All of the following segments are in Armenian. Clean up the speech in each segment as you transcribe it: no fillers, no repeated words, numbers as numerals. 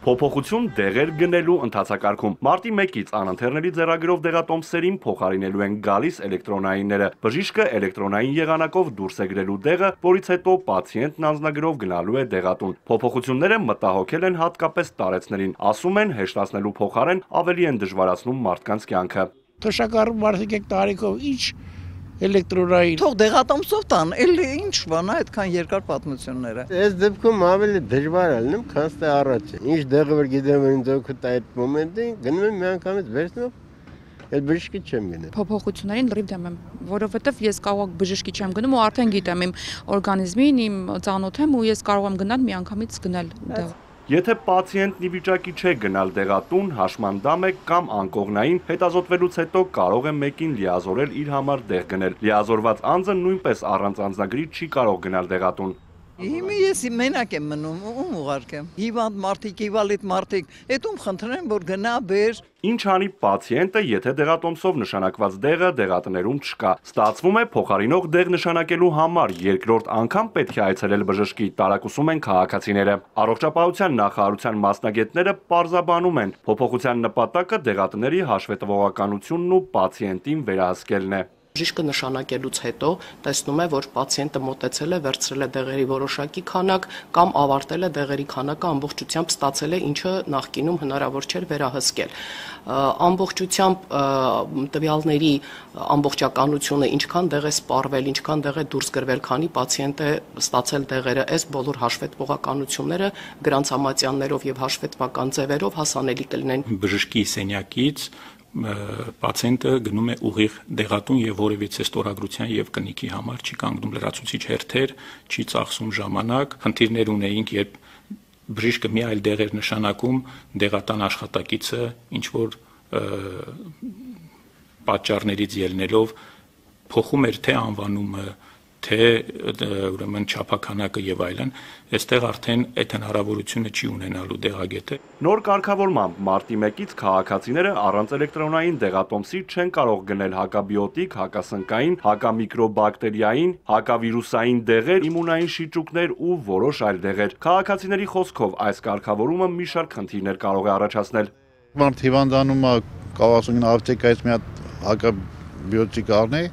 Փոփոխություն դեղեր գնելու ընթացակարգում։ Մարտի 1-ից անընթեռնելի ձեռագրով դեղատոմսերին փոխարինելու են գալիս էլեկտրոնայինները։ Բժիշկը էլեկտրոնային եղանակով դուրս է գրելու դեղը, որից հետո պացիենտն անձնագրով գնալու է դեղատուն։ Փոփոխությունները մտահոգել են հատկապես տարեցներին, ասում են հեշտացնելու փոխարեն ավելի են դժվարացնում մարդկանց կյանքը։ Թոշակառու մարդիկ եք տարիքով ինչ էլեկտրոնային թող դեղատոմսով տան, էլի ինչ բան է այդքան երկար պատմությունները։ Այս դեպքում ավելի դժվար է լինում, քան թե առաջ։ Ինչ դեղը որ գիտեմ ինձ օգուտ այդ մոմենտին, գնում եմ միանգամից վերցնում, այդ բժշկի չեմ գնում։ Փոփոխություններին լրիվ դեմ եմ, որովհետև ես կարող բժշկի չեմ գնում ու արդեն գիտեմ իմ օրգանիզմին, իմ ծանոթ եմ ու ես կարող եմ գնալ միանգամից գնել դեղ։ Եթե պացիենտն ի վիճակի չէ գնալ դեղատուն, հաշմանդամ է կամ անկողնային, հետազոտվելուց հետո կարող է մեկին լիազորել իր համար դեղ գնել։ Լիազորված անձը նույնպես առանց անձնագրի չի կարող գնալ դեղատուն։ Հիմա ես մենակ եմ մնում, ում ուղարկեմ։ Հիվանդ մարդիկ, իվալիդ մարդիկ, այդ ում խնդրեմ, որ գնա բեր։ Ինչ անի պացիենտը, եթե դեղատոմսով նշանակված դեղը դեղատներում չկա։ Ստացվում է փոխարինող դեղ նշանակելու համար երկրորդ անգամ պետք է այցելել բժշկի, տարակուսում են քաղաքացիները։ Առողջապահության նախարարության մասնագետները պարզաբանում են, փոփոխության նպատակը դեղատների հաշվետվողականությունն ու պացիենտին վերահսկելն է։ Բժիշկը նշանակելուց հետո տեսնում է, որ պացիենտը մոտեցել է, վերցրել է դեղերի որոշակի քանակ կամ ավարտել է դեղերի քանակը ամբողջությամբ ստացել է, ինչը նախկինում հնարավոր չէր վերահսկել։ Ամբողջությամբ տվյալների ամբողջականությունը, ինչքան դեղ է սպառվել, ինչքան դեղ է դուրս գրվել, քանի պացիենտ է ստացել դեղերը, այս բոլոր հաշվետվողականությունները գրանցամատյաններով եւ հաշվետվական ձևերով հասանելի կլինեն։ Բժշկի սենյակից պացիենտը գնում է ուղիղ դեղատուն եւ որևիցե ստորագրության եւ կնիքի համար չի կանգնում լրացուցիչ հերթեր, չի ծախսում ժամանակ։ Խնդիրներ ունեինք, երբ բժիշկը մի այլ դեղ էր նշանակում, դեղատան աշխատակիցը ինչ որ պատճառներից ելնելով փոխում էր թե անվանումը, թե ուրեմն չափականակը եւ այլն, այստեղ արդեն այդ հնարավորությունը չի ունենալու դեղագետը։ Նոր կարգավորմամբ մարտի 1-ից քաղաքացիները առանց էլեկտրոնային դեղատոմսի չեն կարող գնել հակաբիոտիկ, հակասնկային, հակամիկրոբակտերիային, հակավիրուսային դեղեր, իմունային շիճուկներ ու որոշ այլ դեղեր։ Քաղաքացիների խոսքով այս կարգավորումը մի շարք խնդիրներ կարող է առաջացնել։ Մարդ հիվանդանում է, կարող ասում ապտեկայից մի հատ հակաբիոտիկ առնի,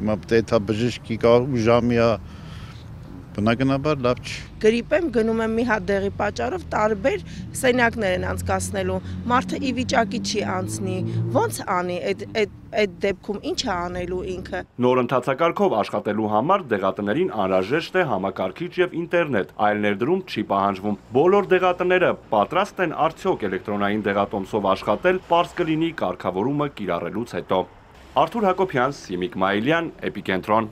հիմա պետք է բժշկի ժամի բնականաբար լավ չի։ Գրիպ եմ, գնում եմ մի հատ դեղի պատճառով տարբեր սենյակներ են անցկացնելու, մարդը ի վիճակի չի անցնի, ոնց անի այդ դեպքում ինչ է անելու ինքը։ Նոր ընթացակարգով աշխատելու համար դեղատներին անհրաժեշտ է համակարգիչ եւ ինտերնետ, այլ ներդրում չի պահանջվում։ Բոլոր դեղատները պատրաստ են արդյոք էլեկտրոնային դեղատոմսով աշխատել, պարզ կլինի կարգավորումը կիրառելուց հետո։ Արթուր Հակոբյան, Սիմիկ Մայիլյան, Էպիկենտրոն։